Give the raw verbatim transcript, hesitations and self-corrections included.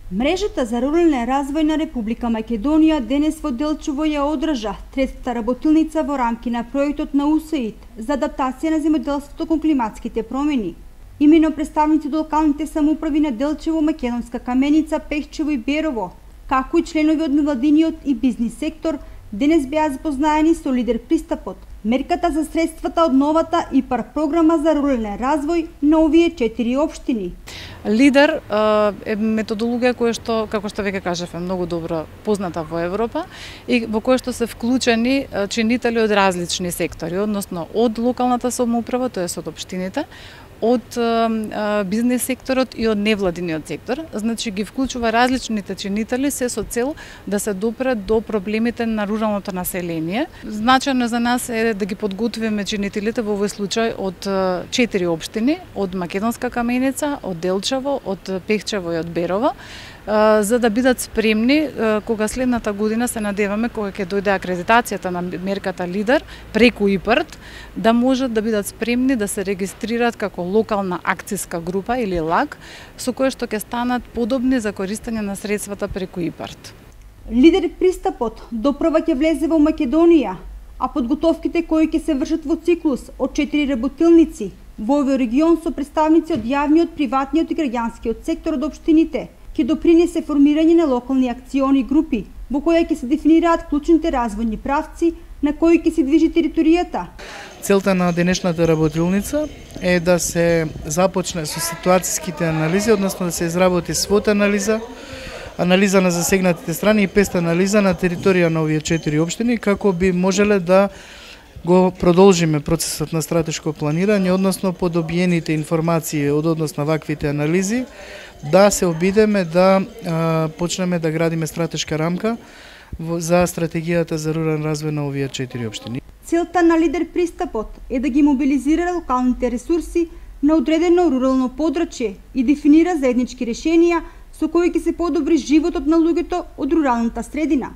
Мрежата за рурален развој на Република Македонија денес во Делчево ја одржа третата работилница во рамки на проектот на У С А И Д за адаптација на земјоделството кон климатските промени. Имено представници од локалните самоуправи на Делчево, Македонска Каменица, Пехчево и Берово, како и членови од невладиниот и бизнис сектор, денес беа запознаени со лидер пристапот, мерката за средствата од новата ИПАР програма за рурален развој на овие четири општини. Лидер е методологија која што, како што веќе кажав, е многу добро позната во Европа и во која што се вклучени чинители од различни сектори, односно од локалната самоуправа, тоест од општините, од бизнес секторот и од невладиниот сектор. Значи ги вклучува различните чинители се со цел да се допре до проблемите на руралното население. Значајно за нас е да ги подготвиме чинителите во овој случај од четири општини, од Македонска Каменица, од Делчево, од Пехчево и од Берово, за да бидат спремни кога следната година се надеваме кога ќе дојде акредитацијата на мерката Лидер преку ИПАР, да можат да бидат спремни да се регистрираат како локална акциска група или ЛАГ, со која што ќе станат подобни за користење на средствата преку ИПАР. Лидер пристапот доправа ќе влезе во Македонија, а подготовките кои ќе се вршат во циклус од четири работилници во овој регион со представници од јавниот, приватниот и граѓанскиот сектор од општините, ќе допринесе формирање на локални акциони групи, во која ќе се дефинираат клучните развојни правци на кои ќе се движи територијата. Целта на денешната работилница е да се започне со ситуацијските анализи, односно да се изработи свот анализа, анализа на засегнатите страни и пест анализа на територија на овие четири општини, како би можеле да го продолжиме процесот на стратешко планирање, односно по добиените информации од однос на ваквите анализи, да се обидеме да а, почнеме да градиме стратешка рамка за стратегијата за рурален развој на овие четири општини. Целта на Лидер пристапот е да ги мобилизира локалните ресурси на одредено рурално подрачје и дефинира заеднички решенија со кои ќе се подобри животот на луѓето од руралната средина.